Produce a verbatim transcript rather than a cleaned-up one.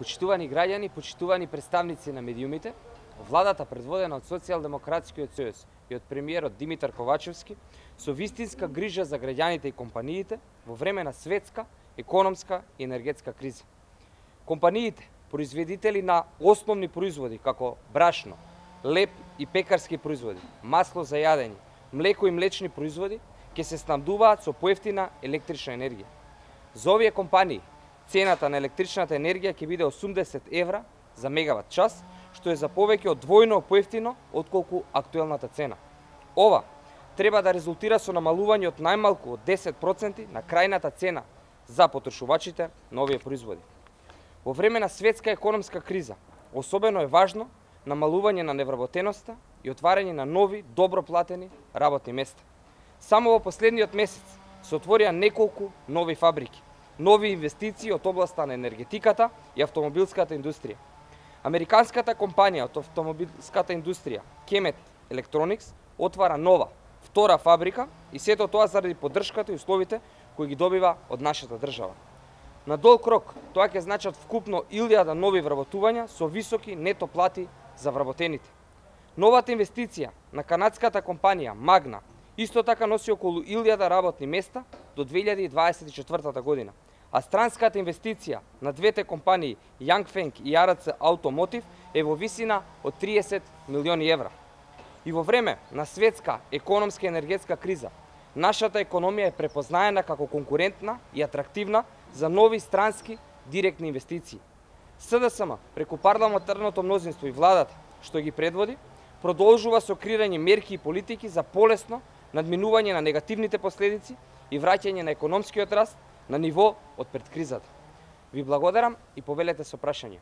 Почитувани граѓани, почитувани представници на медиумите, владата предводена од Социјалдемократскиот сојуз и од премиерот Димитар Ковачевски со вистинска грижа за граѓаните и компаниите во време на светска, економска и енергетска криза. Компаниите, производители на основни производи како брашно, леп и пекарски производи, масло за јадење, млеко и млечни производи, ќе се снабдуваат со поевтина електрична енергија. За овие компании цената на електричната енергија ќе биде осумдесет евра за мегават час, што е за повеќе од двојно поевтино отколку актуелната цена. Ова треба да резултира со намалување од најмалку од десет проценти на крајната цена за потрошувачите на овие производи. Во време на светска економска криза, особено е важно намалување на невработеноста и отварање на нови, добро платени работни места. Само во последниот месец се отворија неколку нови фабрики, нови инвестиции од областа на енергетиката и автомобилската индустрија. Американската компанија од автомобилската индустрија Kemet Electronics отвара нова, втора фабрика и сето тоа заради поддршката и условите кои ги добива од нашата држава. На долг рок тоа ќе значат вкупно илјада нови вработувања со високи нето плати за вработените. Новата инвестиција на канадската компанија Magna исто така носи околу илјада работни места до две илјади и дваесет и четвртата година, а странската инвестиција на двете компании Yanfeng и Ар Ц Automotive е во висина од триесет милиони евра. И во време на светска економска и енергетска криза, нашата економија е препознаена како конкурентна и атрактивна за нови странски директни инвестиции. С Д С М преку парламентарното мнозинство и владата што ги предводи, продолжува со креирање мерки и политики за полесно надминување на негативните последици и враќање на економскиот раст на ниво од пред кризата. Ви благодарам и повелете со прашање.